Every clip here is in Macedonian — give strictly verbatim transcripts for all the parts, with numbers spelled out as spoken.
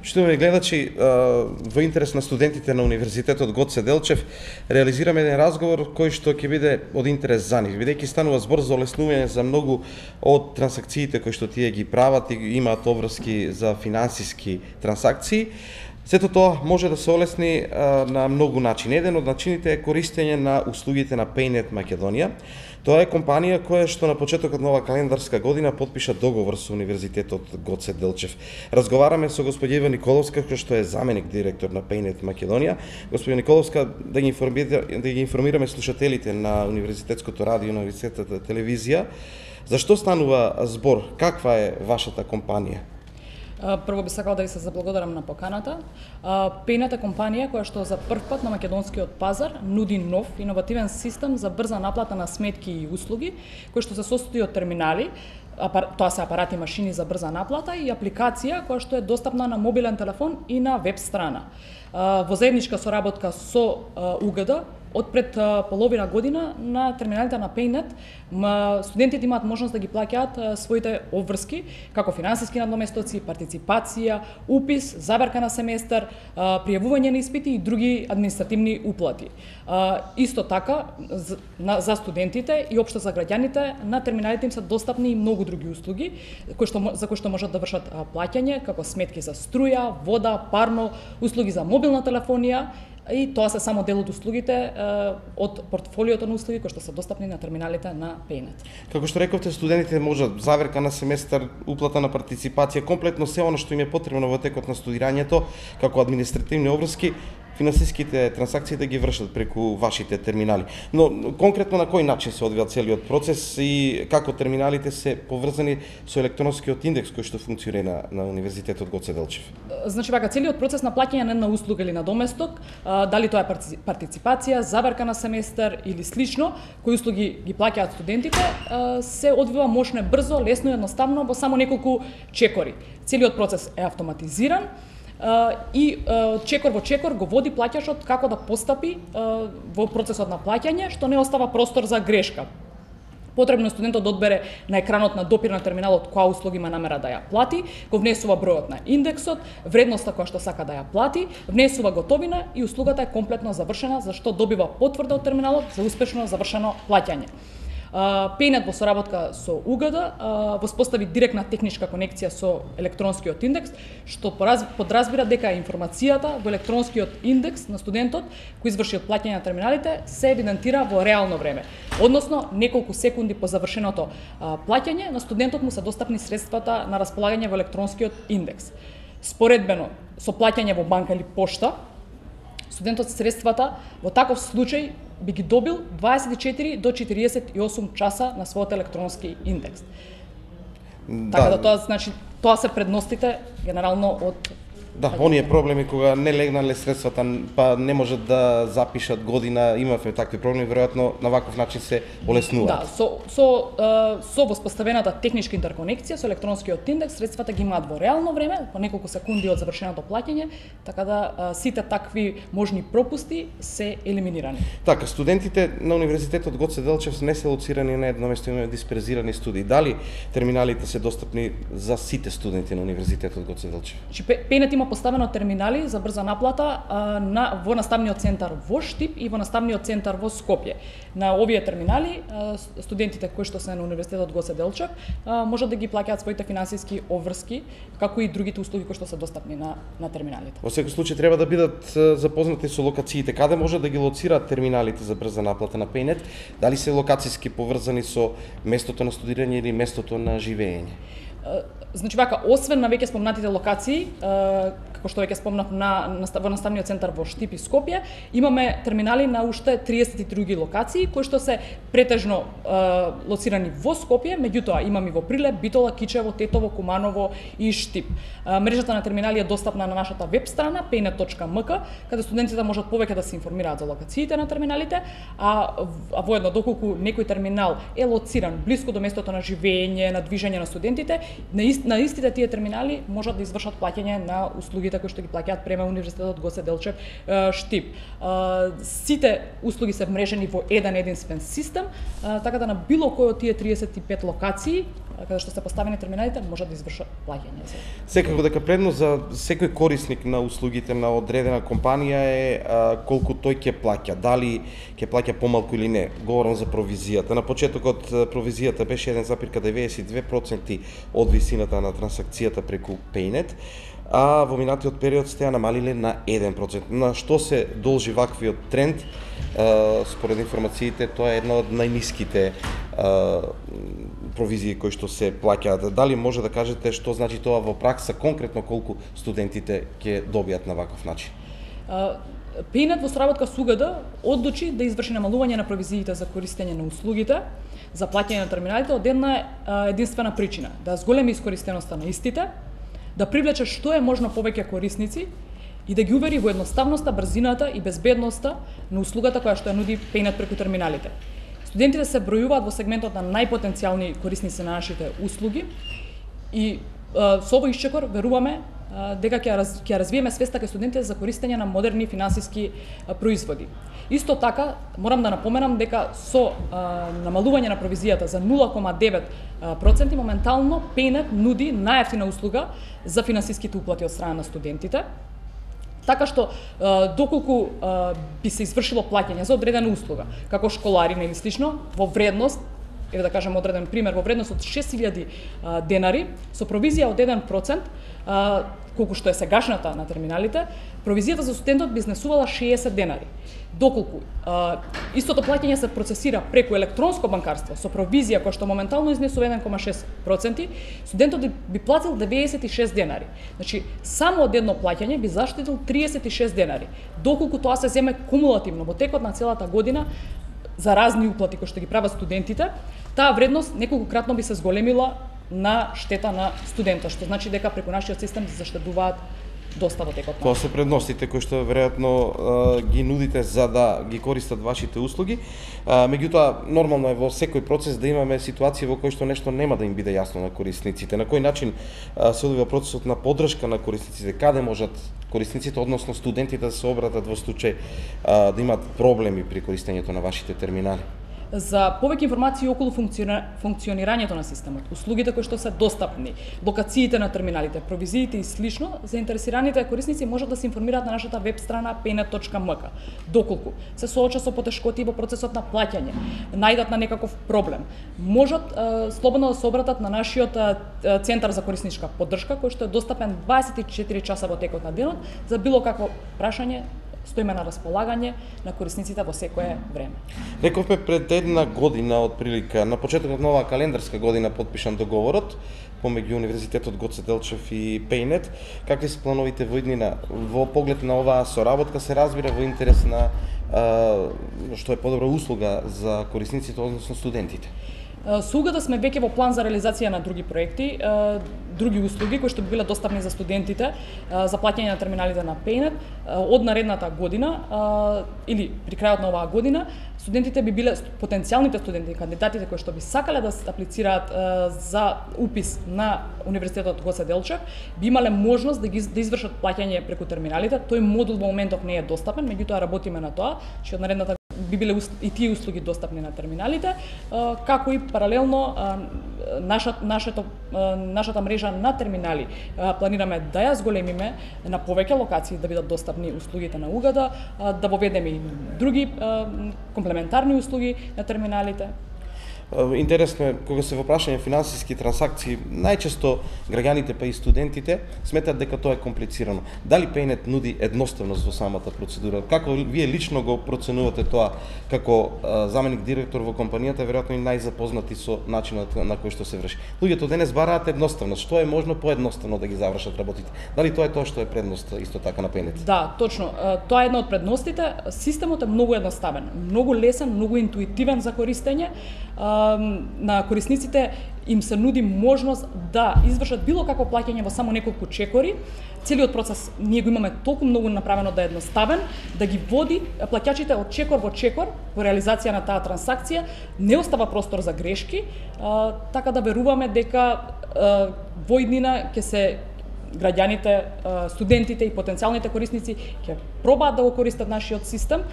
Почитувани гледачи, во интерес на студентите на Универзитетот Гоце Делчев, реализираме еден разговор кој што ќе биде од интерес за нив, бидејќи станува збор за олеснување за многу од трансакциите кои што тие ги прават и имаат обврски за финансиски трансакции. Сето тоа може да се олесни а, на многу начини. Еден од начините е користење на услугите на PayNet Македонија. Тоа е компанија која што на почетокот на ова календарска година потпиша договор со Универзитетот Гоце Делчев. Разговараме со господја Ива Николовска, која што е заменик директор на PayNet Македонија. Господја Николовска, да ги информираме, да ги информираме слушателите на Универзитетското радио и на Универзитетската телевизија, зашто станува збор, каква е вашата компанија? Прво би сакала да ви се заблагодарам на поканата. PayNet е компанија која што за прв пат на македонскиот пазар нуди нов иновативен систем за брза наплата на сметки и услуги, кој што се состои од терминали, тоа се апарати и машини за брза наплата и апликација која што е достапна на мобилен телефон и на веб страна. Во заедничка соработка со У Г Д, од пред половина година на терминалите на PayNet студентите имаат можност да ги плаќаат своите обврски, како финансиски надоместоци, партиципација, упис, забарка на семестар, пријавување на испити и други административни уплати. Исто така, за студентите и општо за граѓаните, на терминалите им се достапни и многу други услуги, кои што, за кои што можат да вршат плаќање, како сметки за струја, вода, парно, услуги за мобилна телефонија, и тоа се само дел од услугите од портфолиото на услуги кои што се достапни на терминалите на PayNet. Како што рековте, студентите можат заверка на семестар, уплата на партиципација, комплетно се она што им е потребно во текот на студирањето, како административни обврски, финансиските трансакции да ги вршат преку вашите терминали. Но конкретно на кој начин се одвива целиот процес и како терминалите се поврзани со електронскиот индекс кој што функционира на Универзитетот Гоце Делчев? Значи вака, целиот процес на плаќање на една услуга или на доместок, дали тоа е партиципација, забарка на семестар или слично, кои услуги ги плаќаат студентите, се одвива мощно, брзо, лесно и едноставно во само неколку чекори. Целиот процес е автоматизиран и чекор во чекор го води плаќашот како да постапи во процесот на плаќање, што не остава простор за грешка. Потребно е студентот да одбере на екранот на допир на терминалот која услуга има намера да ја плати, го внесува бројот на индексот, вредноста која што сака да ја плати, внесува готовина и услугата е комплетно завршена, за што добива потврда од терминалот за успешно завршено плаќање. PayNet во соработка со У Г Д воспостави директна техничка конекција со електронскиот индекс, што подразбира дека информацијата во електронскиот индекс на студентот кој изврши плаќање на терминалите се евидентира во реално време. Односно, неколку секунди по завршеното плаќање на студентот му се достапни средствата на располагање во електронскиот индекс. Споредбено со плаќање во банка или пошта, студентот средствата во таков случај би ги добил дваесет и четири до четириесет и осум часа на својот електронски индекс. Да. Така да тоа значи тоа се предностите генерално од Да, оние проблеми кога не легнале средствата, па не можат да запишат година, имавме такви проблеми, веројатно на ваков начин се олеснуваат. Да, со со со воспоставената техничка интерконекција со електронскиот индекс средствата ги имаат во реално време, по неколку секунди од завршеното плаќање, така да сите такви можни пропусти се елиминирани. Така, студентите на Универзитетот Гоце Делчев не се лоцирани на едно место, имаат дисперзирани студии. Дали терминалите се достапни за сите студенти на Универзитетот Гоце Делчев? PayNet има поставено терминали за брза наплата а, на во наставниот центар во Штип и во наставниот центар во Скопје. На овие терминали а, студентите кои што се на Универзитетот Гоце Делчев а, можат да ги плаќаат своите финансиски обврски, како и другите услуги кои што се достапни на на терминалите. Во секој случај треба да бидат запознати со локациите. Каде може да ги лоцираат терминалите за брза наплата на PayNet? Дали се локациски поврзани со местото на студирање или местото на живење? Значи вака, освен на веќе спомнатите локации, како што веќе спомнав на, на во наставниот центар во Штип и Скопје, имаме терминали на уште триесет и други локации кои што се претежно е, лоцирани во Скопје, меѓутоа имаме во Прилеп, Битола, Кичево, Тетово, Куманово и Штип. Е, мрежата на терминали е достапна на нашата веб страна paynet точка м к, каде студентите можат повеќе да се информираат за локациите на терминалите, а, а воедно доколку некој терминал е лоциран блиску до местото на живење, на движење на студентите, на, ист, на истите тие терминали можат да извршат плаќање на услугите услугите кои што ги плаќаат према Универзитетот Гоце Делчев Штип. Сите услуги се вмрежени во еден единствен систем, така да на било кој од тие триесет и пет локации каде што се поставени терминалите можат да извршат плаќање. Секако дека предно за секој корисник на услугите на одредена компанија е а, колку тој ќе плаќа, дали ќе плаќа помалку или не. Говорам за провизијата. На почетокот провизијата беше еден запир деветдесет и две проценти од висината на трансакцијата преку Paynet, а во минатиот период сте ја намалиле на еден процент. На што се должи ваквиот тренд? Uh, според информациите, тоа е една од најниските uh, провизии кои што се плаќаат. Дали може да кажете што значи тоа во пракса, конкретно колку студентите ќе добијат на ваков начин? Uh, Paynet во соработка со У Г Д одлучи да изврши намалување на провизиите за користење на услугите, за плаќање на терминалите од една uh, единствена причина, да зголеми искористеноста на истите, да привлече што е можно повеќе корисници и да ги увери во едноставноста, брзината и безбедноста на услугата која што ја нуди Paynet преку терминалите. Студентите се бројуваат во сегментот на најпотенцијални корисници на нашите услуги и а, со овој исчекор веруваме а, дека ќе раз, ќе развиеме свеста кај студентите за користење на модерни финансиски а, производи. Исто така, морам да напоменам дека со а, намалување на провизијата за нула кома девет проценти моментално Paynet нуди најевтина услуга за финансиските уплати од страна на студентите. Така што, доколку би се извршило плаќање за одредена услуга, како школарина или слично, во вредност, еве да кажем одреден пример, во вредност од шест илјади денари, со провизија од еден процент, колку што е сегашната на терминалите, провизијата за студентот би изнесувала шеесет денари. Доколку истото плаќање се процесира преку електронско банкарство со провизија која што моментално изнесува еден кома шест проценти, студентот би платил деветдесет и шест денари. Значи, само од едно плаќање би заштитил триесет и шест денари. Доколку тоа се земе кумулативно во текот на целата година за разни уплати кои што ги прават студентите, таа вредност неколкократно би се зголемила на штета на студента, што значи дека преку нашиот систем се заштедуваат доста во текот на. Тоа се предностите кои што веројатно ги нудите за да ги користат вашите услуги. А, меѓутоа, нормално е во секој процес да имаме ситуација во кој што нешто нема да им биде јасно на корисниците. На кој начин а, се одвива процесот на поддршка на корисниците? Каде можат корисниците, односно студентите, да се обратат во случај а, да имат проблеми при користењето на вашите терминали? За повеќе информации околу функционира... функционирањето на системот, услугите кои што се достапни, локациите на терминалите, провизиите и слично, заинтересираните корисници можат да се информираат на нашата веб страна paynet точка м к. Доколку се соочат со потешкоти во процесот на плаќање, најдат на некаков проблем, можат е, слободно да се обратат на нашиот е, центар за корисничка поддршка, кој што е достапен дваесет и четири часа во текот на денот за било какво прашање. Стоиме на располагање на корисниците во секое време. Рековме пред една година од прилика, на почетокот на оваа календарска година подпишан договорот помеѓу Универзитетот Гоце Делчев и Paynet. Какви се плановите во иднина во поглед на оваа соработка, се разбира во интерес на а, што е подобра услуга за корисниците, односно студентите? Со У Г Д сме веќе во план за реализација на други проекти, други услуги кои што би биле достапни за студентите за плаќање на терминалите на Paynet од наредната година или при крајот на оваа година. Студентите би биле потенцијалните студенти, кандидатите кои што би сакале да се аплицираат за упис на Универзитетот Гоце Делчев, би имале можност да ги да извршат плаќање преку терминалите. Тој модул во моментов не е достапен, меѓутоа работиме на тоа, што од наредната би биле и тие услуги достапни на терминалите, како и паралелно нашата, нашата, нашата мрежа на терминали планираме да ја зголемиме на повеќе локации да бидат достапни услугите на У Г Д, да воведеме и други комплементарни услуги на терминалите. Интересно е, кога се во прашање финансиски трансакции, најчесто граѓаните па и студентите сметат дека тоа е комплицирано. Дали Paynet нуди едноставност во самата процедура? Како вие лично го проценувате тоа како а, заменик директор во компанијата, веројатно и најзапознати со начинот на кој што се врши? Луѓето денес бараат едноставност. Што е можно поедноставно да ги завршат работите? Дали тоа е тоа што е предност исто така на Paynet? Да, точно. Тоа е една од предностите. Системот е многу едноставен, многу лесен, многу интуитивен за користење. На корисниците им се нуди можност да извршат било какво плаќање во само неколку чекори. Целиот процес ние го имаме толку многу направено да е едноставен, да ги води плаќачите од чекор во чекор во реализација на таа трансакција, не остава простор за грешки, а, така да веруваме дека а, во иднина ќе се граѓаните, студентите и потенцијалните корисници ќе пробаат да го користат нашиот систем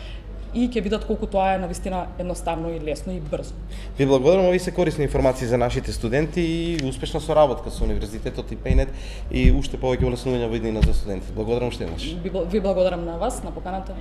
и ќе видат колку тоа е навистина едноставно и лесно и брзо. Ви благодарам, ови се корисни информации за нашите студенти и успешна соработка со Универзитетот и Пейнет и уште повеќе олеснување во иднина за студентите. Благодарам уште еднаш. Ви благодарам на вас, на поканата.